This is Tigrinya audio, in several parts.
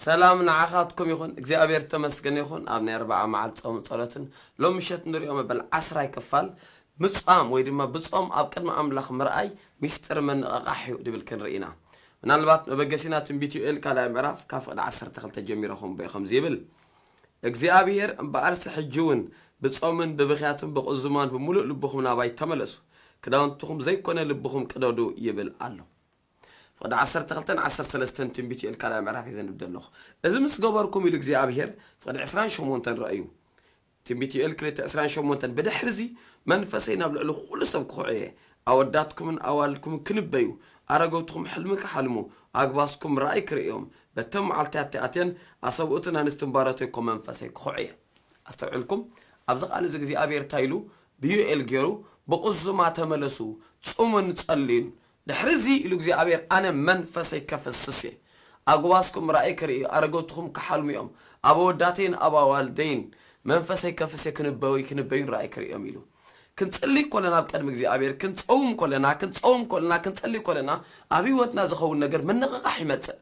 ሰላም ንዓኻትኩም ይኹን። እግዚኣብሔር ተመስገን ይኹን። ኣብ ናይ ኣርብዓ መዓልቲ ጾም ጸሎትን ሎም ምሸት ንሪኦ መበል ዓስራይ ክፋል ምጻም ወይ ድማ ብጾም ኣብ ቅድሚ ኣምላኽ ምርኣይ ሚስጥር ምንቕቓሕ እዩ ድብል ክንርኢ ኢና። ምናልባት መበገሲና ትንቢት ዮኤል ካልኣይ ምዕራፍ ካብ ፍቕዲ ዓሰርተ ክልተ ጀሚረኹም ቦ ከምዚ ይብል እግዚኣብሔር እምበኣርሲ ሕጂ እውን ብጾምን ብብኽያትን ብቕዙማን ብምሉእ ልብኹም ናባይ ተመለሱ፣ ክዳውንትኹም ዘይኮነ ልብኹም ቅደዱ ይብል ኣሎ። ፍቕዲ ዓሰርተ ክልተን ዓሰርተ ሰለስተን ትንቢት ዮኤል ካልኣይ ምዕራፍ እየ ዘንብብ ዘለኹ። እዚ ምስ ገበርኩም ኢሉ እግዚኣብሔር ፍቕዲ ዕስራን ሸሞንተን ረእዩ። ትንቢት ዮኤል ክልተ ዕስራን ሸሞንተን ብድሕርዚ መንፈሰይ ናብ ልዕሊ ኩሉ ሰብ ክኹዕ እየ። ኣወዳትኩምን ኣዋልድኩምን ክንበዩ፣ ኣረገውትኹም ሕልሚ ክሓልሙ፣ ኣግባስኩም ራእይ ክርእዮም፣ በተን መዓልትያት ኣትየን ኣሰብኡትን ኣንስትን ባሮተይ ኮ መንፈሰይ ክኹዕ እየ። ኣስተውዕልኩም፣ ኣብዚ ቃል እዚ እግዚኣብሔር እንታይ ኢሉ ብዩኤል ገይሩ፣ ብቕዙማ ተመለሱ፣ ጽሙን ጸልዩን። ድሕርዚ ኢሉ እግዚኣብሔር ኣነ መንፈሰይ ከፍስስ እየ። ኣግባስኩም ራእይ ክርእዩ፣ ኣረገውትኹም ክሓልሙ እዮም። ኣብ ኣወዳተይን ኣብ ኣዋልደይን መንፈሰይ ከፍስ እየ፣ ክንበዩ ክንበዩን ራእይ ክርእዮም ኢሉ። ክንጽሊ ኮለና ኣብ ቅድሚ እግዚኣብሔር ክንጸውም ኮለና ክንጸውም ኮለና ክንጸሊ ኮለና ኣብ ህይወትና ዝኸውን ነገር ምንቕቓሕ ይመጽእ።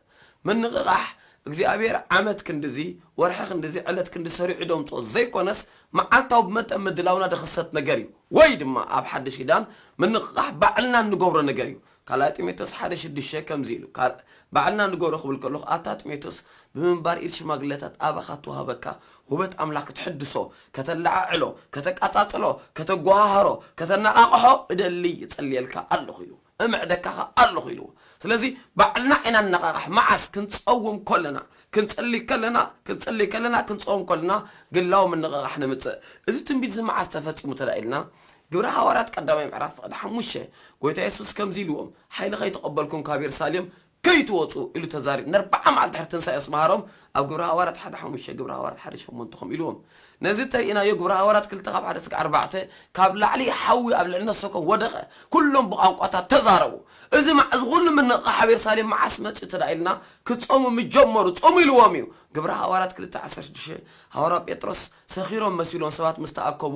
ምንቕቓሕ እግዚኣብሔር ዓመት ክንድዚ ወርሒ ክንድዚ ዕለት ክንዲ ሰሪዑ ደምፅኦ ዘይኮነስ መዓልታዊ ብመጠን ምድላውና ድኽሰት ነገር እዩ። ወይ ድማ ኣብ ሓድሽ ኪዳን ምንቕቓሕ ባዕልና እንገብሮ ነገር እዩ። ካልኣይ ጢሞቴዎስ ሓደ ሽዱሽተ ከምዚ ኢሉ፣ ካል- ባዕልና ንገብሮ ክብል ከለኹ ኣታ ጢሞቴዎስ ብምንባር ኢድ ሽማግለታት ኣባኻ ትወሃበካ ውበት ኣምላኽ ክትሕድሶ፣ ከተለዓዕሎ፣ ከተቃጻጽሎ፣ ከተጓሃህሮ፣ ከተነቓቕሖ እደሊ ይጸልየልካ ኣለኹ ኢሉ። እምዕደካ ኸኣ ኣለኹ ኢልዎ። ስለዚ ባዕልና ኢና ንነቓቓሕ። መዓስ? ክንጸውም ከለና፣ ክንጽሊ ከለና፣ ክንጽሊ ከለና፣ ክንጸውም ከለና ግላዊ ምንቕቓሕ ንምጽእ። እዚ ትንቢት እዚ መዓስ ተፈጺሙ ተዳ ኢልና፣ ግብረ ሃዋርያት ቀዳማይ ምዕራፍ ፍቕዲ ሓሙሽተ፣ ጎይታ የሱስ ከምዚ ኢልዎም፣ ሓይሊ ከይተቐበልኩም ካብ የሩሳሌም ከይትወጹ ኢሉ ተዛሪቡ። ንኣርብዓ መዓልቲ ድሕሪ ትንሳኤ ምስ መሃሮም ኣብ ግብረ ሃዋርያት ሓደ ሓሙሽተ፣ ግብረ ሃዋርያት ሓደ ሸሞንተ ከምኡ ኢልዎም። ነዚ ተርእናዮ ግብረ ሃዋርያት ክልተ ካብ ሓደ እስከ ኣርባዕተ፣ ካብ ላዕሊ ሓዊ ኣብ ልዕሊ ነፍሰኮም ወደቐ። ኩሎም ብቋንቋታት ተዛረቡ። እዚ መዓ-፣ እዚ ኩሉ ምንቕቓሕ ኣብ የሩሳሌም መዓስ መጺኡ ተዳ ኢልና፣ ክጾሙ ምስ ጀመሩ፣ ጾሙ ኢልዎም እዩ። ግብረ ሃዋርያት ክልተ ዓሰርተ ሽዱሽተ፣ ሃዋርያ ጴጥሮስ ሰኺሮም መሲሎም ሰባት ምስ ተኣከቡ፣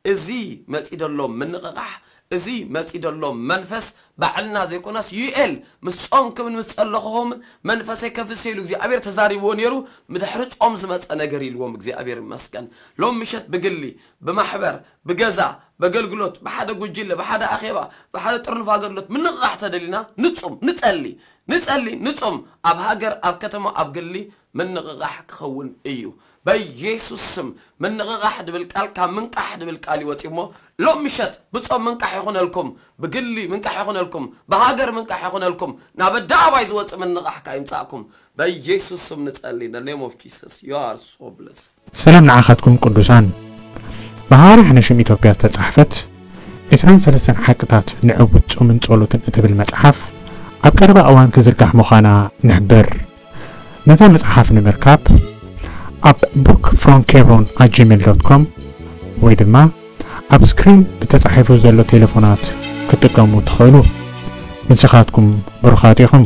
እዚ መጺ ደሎ ምንቕቓሕ፣ እዚ መጺ ደሎ መንፈስ ባዕልና ዘይኮነስ ዩኤል ምስ ጾምኩምን ምስ ጸለኹኹምን መንፈሰይ ከፍስስ ኢሉ እግዚኣብሔር ተዛሪብዎ ነይሩ። ምድሕሪ ጾም ዝመጸ ነገር ኢልዎም እግዚኣብሔር ይመስገን። ሎም ምሸት ብግሊ፣ ብማሕበር፣ ብገዛ፣ በገልግሎት፣ ብሓደ ጉጅለ፣ ብሓደ ኣኼባ፣ ብሓደ ጥርንፍ ኣገልግሎት ምንቕቓሕ ተደሊና ንጹም፣ ንጸሊ፣ ንጸሊ፣ ንጹም። ኣብ ሃገር፣ ኣብ ከተማ፣ ኣብ ግሊ ምንቕቓሕ ክኸውን እዩ። በኢየሱስ ስም ምንቕቓሕ ድብል ቃል ካብ ምንቃሕ ድብል ቃል ይወጽእ እሞ ሎም ምሸት ብጾም ምንቃሕ ይኹነልኩም፣ ብግሊ ምንቃሕ ይኹነልኩም፣ ብሃገር ምንቃሕ ይኹነልኩም፣ ናብ ኣደባባይ ዝወጽእ ምንቕቓሕ ከኣ ይምጻእኩም። በኢየሱስ ስም ንጸሊ። In the name of Jesus, you are so blessed. ሰላም ንዓኻትኩም ቅዱሳን። ብሃዋርያ ሕነሽም ኢትዮጵያ ዝተጻሕፈት ዕስራን ሰለስተን ሓቅታት ንዕቡድ ጾምን ጸሎትን እትብል መጽሓፍ ኣብ ቀረባ እዋን ክዝርጋሕ ምዃና ንሕብር። ነታ መጽሓፍ ንምርካብ ኣብ book from hebron at gmail dot com ወይ ድማ ኣብ ስክሪን ብተጻሒፉ ዘሎ ቴሌፎናት ክትጥቀሙ ትኽእሉ። ንስኻትኩም ብሩኻት ኢኹም።